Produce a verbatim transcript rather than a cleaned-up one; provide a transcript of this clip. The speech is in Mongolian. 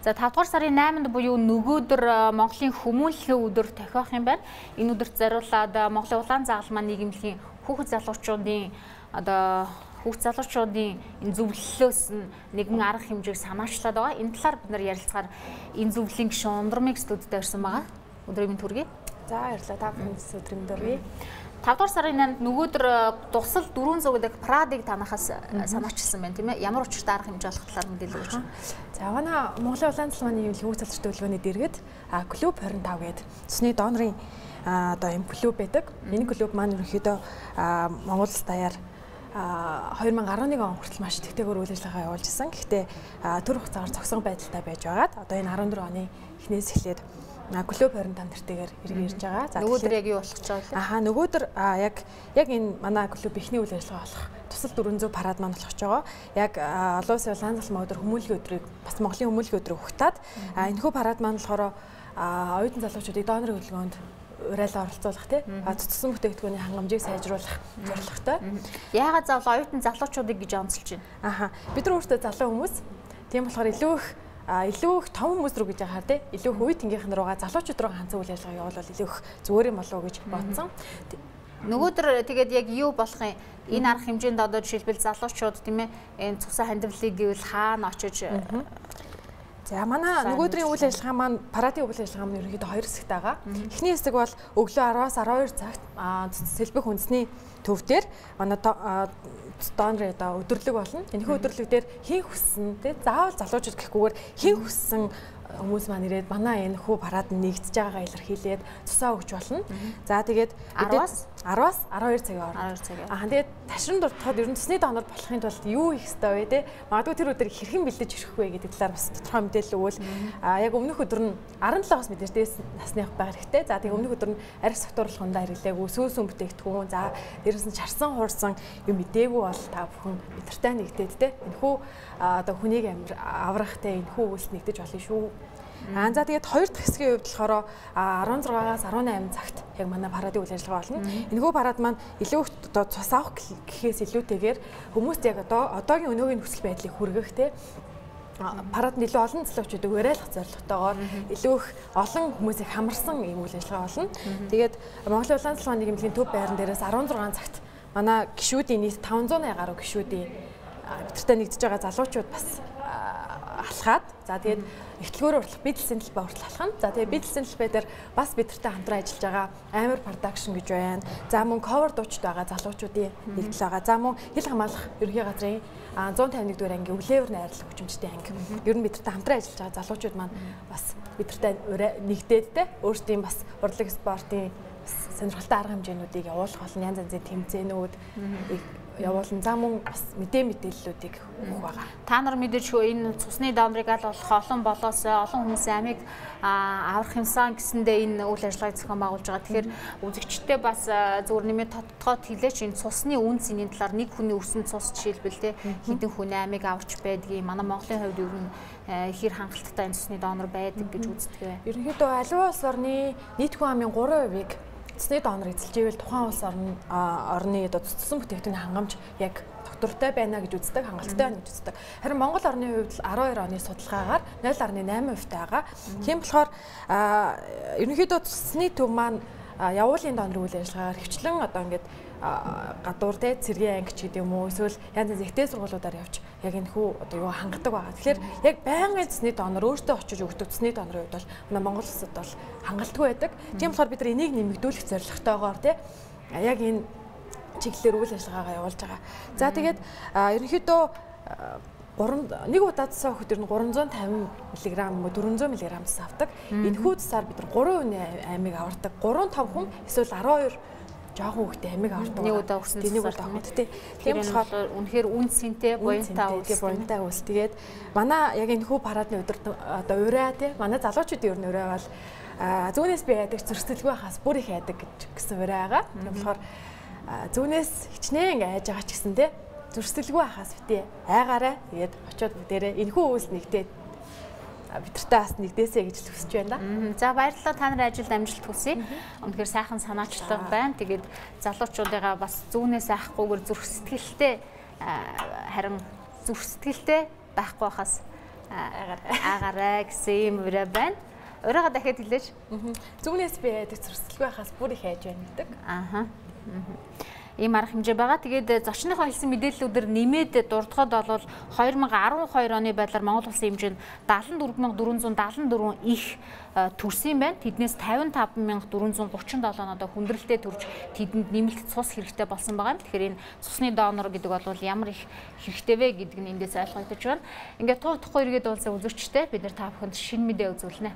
За тавдугаар сарын найманд буюу нөгөөдөр Монголын хүмүүнлэгийн өдөр тохиох юм байна. Энэ өдөрт зориулаад Монголын улаан загалмаа нийгэмлэгийн хүүхэд залуучуудын одоо хүүхэд залуучуудын энэ зөвлөлөөс нэгэн арга хэмжээг санаачлаад байгаа. Энэ талаар бид нар ярилцахаар энэ зөвлөлийн гишүүн Ундрмыг студид ирсэн байгаа. Өдрийн мэнд хүргэе. За баярлалаа. Та бүхэнд өдрийн мэнд хүргэе. тавдугаар сарын найманд нөгөөдөр дусал дөрвөн зуун гэдэг Прадыг танахаас санаачилсан байна тийм ээ. Ямар учиртай арга хэмжээ болох талаар мэдээлэл өгч. За манай Монголын улаан загалмаа нийгэмлэгийн хүүхэд залуучуудын төлөвлөгөөний дэргэд клуб хорин тав гэдэг цусны донорын одоо юм клуб байдаг. Энэ клуб маань ерөнхийдөө Монгол улс даяар хоёр мянга арван нэг он хүртэл маш тэгтэйгээр үйл ажиллагаа явуулж исэн. Гэхдээ төр хугацаагаар зогсон байдалтай байж байгаад одоо энэ арван дөрөв оны эхнээс эхлээд клуб хорин тав нэртэйгээр ирж байгаа. За нөгөөдөр яг юу болох гэж байгаа вэ? Ахаа нөгөөдөр яг яг энэ манай клуб ихний үйл ажиллагаа болох тусал дөрвөн зуун парад маань болох гэж байгаа. Яг олон улсын улаан загалмаа өдөр хүмүүнлэгийн өдрийг бас Монголын хүмүүнлэгийн өдрийг ухтаад энэхүү парад маань болохоор оюутан залуучуудыг донорын хөдөлгөөнд урайлан оролцуулах тий цэцсэн бүтээгдэхүүний хангамжийг сайжруулах зорилготой. Яагаад заавал оюутан залуучуудыг гэж онцолж байна? Ахаа бид нар өөрсдөө залуу хүмүүс. Тийм болохоор илүү их илүү их том хүмүүс рүү гэж яхаар тий илүү их үе тэнгийнхэн руугаа залуучууд руу ганцхан үйл ажиллагаа явуулвал илүү их зүгээр юм болов уу гэж бодсон. Нөгөөдөр тэгээд яг юу болох юм? Энэ арга хэмжээнд одоо жишээлбэл залуучууд тийм ээ энэ цусан хандивлыг гэвэл хаана очиж. За манай нөгөөдрийн үйл ажиллагаа маань парадын үйл ажиллагаа маань ерөнхийдөө хоёр хэсэгтэй байгаа. Эхний хэсэг бол өглөө араваас арван хоёр цагт Сэлбэх үндэсний төв дээр манай донор одоо өдөрлөг болно. Энэхүү өдөрлөг дээр хин хүссэн тий заавал залуучууд гэхгүйгээр хин хүссэн хүмүүс маань ирээд манай энэ хүү парад нэгдэж байгаагаа илэрхийлээд цусаа өгч болно. За тэгээд араваас араваас арван хоёр цагийн арван хоёр цагийн. Аа тэгээд ташран дуртахад ер нь цусны донор болохын тулд юу хийх ёстой вэ те? Магадгүй тэр өдөр хэрхэн бэлдэж ирэх вэ гэдэг талаар бас тодорхой мэдээлэл өгвөл аа яг өмнөх өдөр нь арван долоос мэдээж дээс насных байх хэрэгтэй. За тэгээд өмнөх өдөр нь арх согтууруулахундаа хэрэглээгүй сүүсүн бүтээгдэхүүн за дээрээс нь чарсан хуурсан юм мэдээгүй бол та бүхэн бидэртэй нэгдээд те. Энэхүү одоо хүнийг аврах те энэхүү үйлс нэгдэж болно шүү. Аа за тэгээд хоёр дахь хэсгийн хувьд болохоор арван зургаас арван найман цагт яг манай парадын үйл ажиллагаа болно. Энэхүү парад маань илүү одоо цус авах гэхээс илүүтэйгээр хүмүүст яг одоо одоогийн өнөөгийн нөхцөл байдлыг хүргэх те парад илүү олон залуучуудыг уриалгах зорилготойгоор илүү их олон хүмүүсийг хамарсан юм үйл ажиллагаа болно. Тэгээд Монголын улаан загалмаа нийгэмлэгийн төв байран дээрээс арван зургаан цагт манай гишүүдийн нийт таван зуун гаруй гишүүдийн бидэртэй нэгдэж байгаа залуучууд бас алхаад за тэгээд эхтлгөөр уртлах бидлсэн талбай уртлах алхана. За тэгээд бидлсэн талбай дээр бас бидэртэй хамтран ажиллаж байгаа Амар production гэж байна. За мөн cover дуучид байгаа залуучуудын нэгдэл байгаа. За мөн хил хамгаалах ерөнхий газрын зуун тавин нэгдүгээр анги өвлөөр найрлах хүчмжтэй анги. Ер нь бидэртэй хамтран ажиллаж байгаа залуучууд маань бас бидэртэй нэгдээд те өөрсдийн бас урлаг спортын сонирхолтой арга хэмжээнүүдийг явуулах болон янз янзын тэмцээнүүд явуулан за мөн бас мэдээ мэдээллүүдийг өгөх байгаа. Та нар мэдээчгүй энэ цусны донорыг аль болох олон болоос олон хүмүүсийн амийг аврах юмсан гэсэндээ энэ үйл ажиллагааг зохион байгуулж байгаа. Тэгэхээр үзэгчдээ бас зөвхөн нэмээд тодтогоод хэлээч энэ цусны үн цэнийн талаар нэг хүний өссөн цус жишээлбэл те хэдэн хүний амийг аварч байдгийг манай Монголын хувьд ер нь хэр хангалттай энэ цусны донор байдаг гэж үздэг вэ? Ерөнхийдөө аливаа улс орны нийт хүн амын гурван хувийг цусны донор эзэлж ивэл тухайн улс орны орны одоо цуссан бүтээгдэхүүний хангамж яг доктортой байна гэж үздэг, хангалттай байна гэж үздэг. Харин Монгол орны хувьд арван хоёр оны судалгаагаар нуль гаруй найман хувьтай байгаа. Тийм болохоор ерөнхийдөө цусны төв маань явуулын донор үйл ажиллагаар хвчлэн одоо ингээд гадуур те цэргийн анги ч гэдэг юм уу эсвэл янз янз ихтэй сургуулиудаар явж яг энэ хүү одоо юу хангадаг байгаа. Тэгэхээр яг байнгын цусны донор өөртөө очиж өгдөг цусны донорын хувьд бол манай Монгол улсад бол хангалтгүй байдаг. Тийм болохоор бид нар энийг нэмэгдүүлэх зорилготойгоор те яг энэ чиглэлээр үйл ажиллагаагаа явуулж байгаа. За тэгээд ерөнхийдөө нэг удаа цусаа өгөхөд ер нь гурван зуун тавин миллиграмм дөрвөн зуун миллиграмм цус авдаг. Энэхүү цусаар бид нар гурван хүний амийг авардаг. гурван том хүн эсвэл арван хоёр жоохон хүүхдээ амиг авардаг. Нэг удаа өгсөн нэг удаа өгөх тий. Тийм болохоор үнэхээр үнцэнтэй буянтаа үс. Буянтаа үс. Тэгээд манай яг энэ хүү парадны өдөр одоо ураа тий. Манай залуучуудын ер нь ураа бол зүүнээс би яадаг зөрсдөлгүй хаас бүр их яадаг гэсэн ураа байгаа. Тийм болохоор зүүнээс хичнээн айж байгаа ч гэсэн тий. Зөрсдөлгүй хаас битээ айгаараа тэгээд очиод бүгдээрээ энэ хүү үс нэгдээд бидэртэй бас нэгдээсэй гэж хүсэж байна да. За баярлалаа, та нарын ажилд амжилт хүсье. Үнэхээр сайхан санаачлаг байна. Тэгээд залуучуудыгаа бас зүүнээс айхгүйгээр зүрх сэтгэлтэй харин зүрх сэтгэлтэй байхгүй хаас Агараа гэсэн юм ураа байна. Ураагаа дахиад хэлээч. Зүгнээс би яадаг зурсгалгүй байхаас бүр их хайж байна гэдэг. Ааха. Ийм арга хэмжээ байгаа. Тэгээд зочныхоо хэлсэн мэдээллүүдээр нэмээд дурдхад бол две thousand twelve оны байдлаар Монгол улсын хэмжээнд seventy-four thousand four hundred seventy-four их төрсөн байна. Тэднээс fifty-five thousand four hundred thirty-seven одоо хүндрэлтэй төрж тэдэнд нэмэлт цус хэрэгтэй болсон байгаа юм. Тэгэхээр энэ цусны донор гэдэг бол ямар их хэрэгтэй вэ гэдг нь эндээс ойлгогдож байна. Ингээд туу утахгүй эргээд уулзсан үзэгчтэй бид нар та бүхэнд шинэ мэдээ үзүүлнэ.